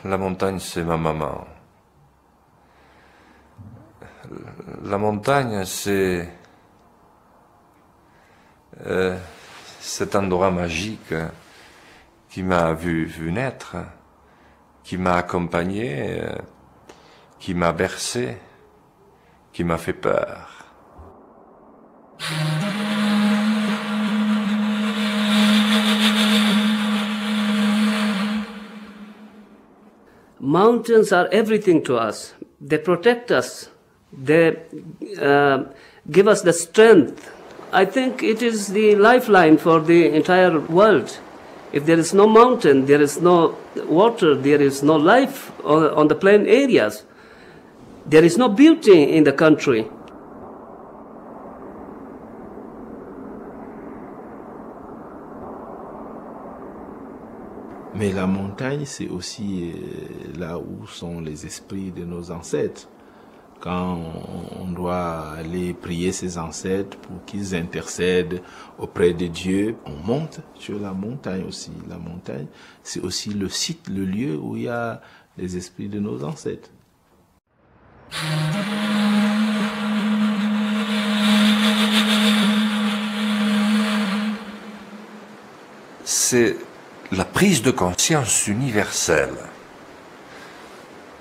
La montagne, c'est ma maman. La montagne, c'est cet endroit magique qui m'a vu naître, qui m'a accompagné, qui m'a bercé, qui m'a fait peur. Mountains are everything to us. They protect us. They give us the strength. I think it is the lifeline for the entire world. If there is no mountain, there is no water, there is no life on the plain areas. There is no beauty in the country. Mais la montagne, c'est aussi là où sont les esprits de nos ancêtres. Quand on doit aller prier ses ancêtres pour qu'ils intercèdent auprès de Dieu, on monte sur la montagne aussi. La montagne, c'est aussi le site, le lieu où il y a les esprits de nos ancêtres. C'est la prise de conscience universelle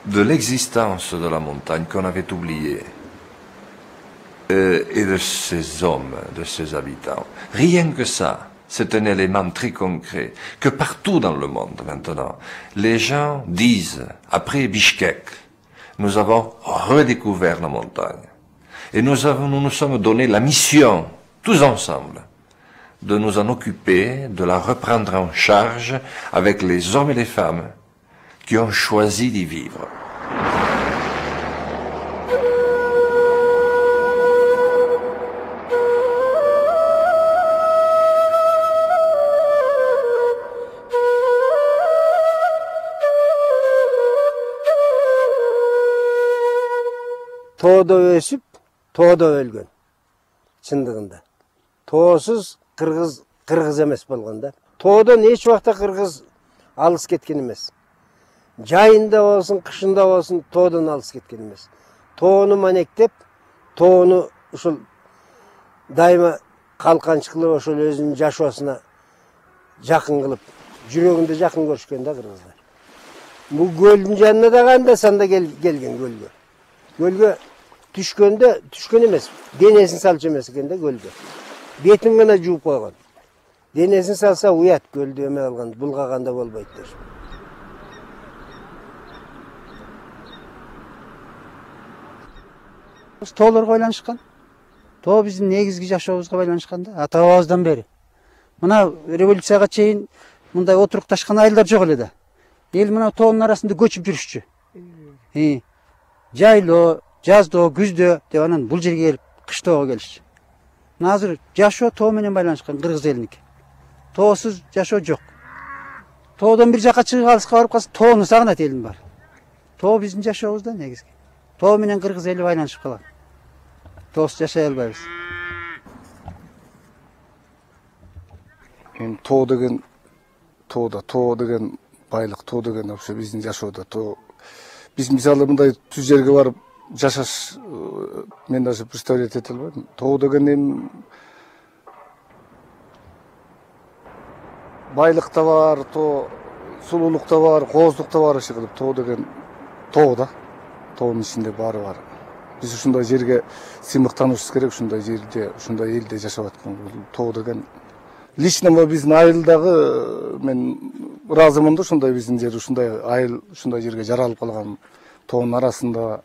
de l'existence de la montagne qu'on avait oubliée et de ses hommes, de ses habitants. Rien que ça, c'est un élément très concret que partout dans le monde maintenant, les gens disent, après Bishkek, nous avons redécouvert la montagne et nous nous sommes donné la mission, tous ensemble, de nous en occuper, de la reprendre en charge avec les hommes et les femmes qui ont choisi d'y vivre. Тоодо өсүп, тоодо өлгөн. Чындыгында. Тоосуз кыргыз эмес болгон да. Тоодон эч убакта кыргыз алыс кеткен эмес. Жайында болсун, кышында болсун, тоодон алыс кеткен эмес. Тоону манектеп, тоону ушул дайыма калканчы кылып, ошол өзүнүн жашоосуна жакын кылып, жүрөгүндө жакын көрүшкөн да кыргыздар. Бул көлдүн жанына да кандай санда келген көлгө. Көлгө түшкөн эмес, денесин салчу эмес экен да көлгө. Бетин гана жууп койгон. Денесин салса уят көлдү эме алган, булгаганда болбойт деп. Тоолорго байланышкан. Тоо биздин негизги жашообузга байланышкан да, ата-бабабыздан бери. Мына революцияга чейин мындай отурукташкан айылдар жок эле да. Эл мына тоонун арасында көчүп жүрүшчү. Жайлоо, жаздоо, күздө деп анан бул жерге келип кыштоого келишчү. Азыр жашоо тоо менен байланышкан кыргыз элиники. Тоосуз жашоо жок. Тоодон бир жака чыгып алыска барып калса, тоону сагынат элдин баары. Тоо биздин жашообуз да негизги. Тоо менен кыргыз эли байланышып калат. Тоосуз жашай албайбыз. Тоо деген байлык, тоо деген вообще биздин жашоодо тоо. Биз мисалы мындай түз жерге барып жашаш, мен даже представлять эте албайм. Тоо деген эми байлык да бар, тоо сулуулук да бар, кооздук да бар иши кылып. Тоо деген тоо да. Тоонун ичинде баары бар. Биз ушундай жерге сыймыктанышыбыз керек, ушундай жерде, ушундай элде жашап аткан. Тоо деген лично биздин айылдагы мен ыраазымын да, ушундай биздин жер, ушундай айыл, ушундай жерге жаралып калган тоонун арасында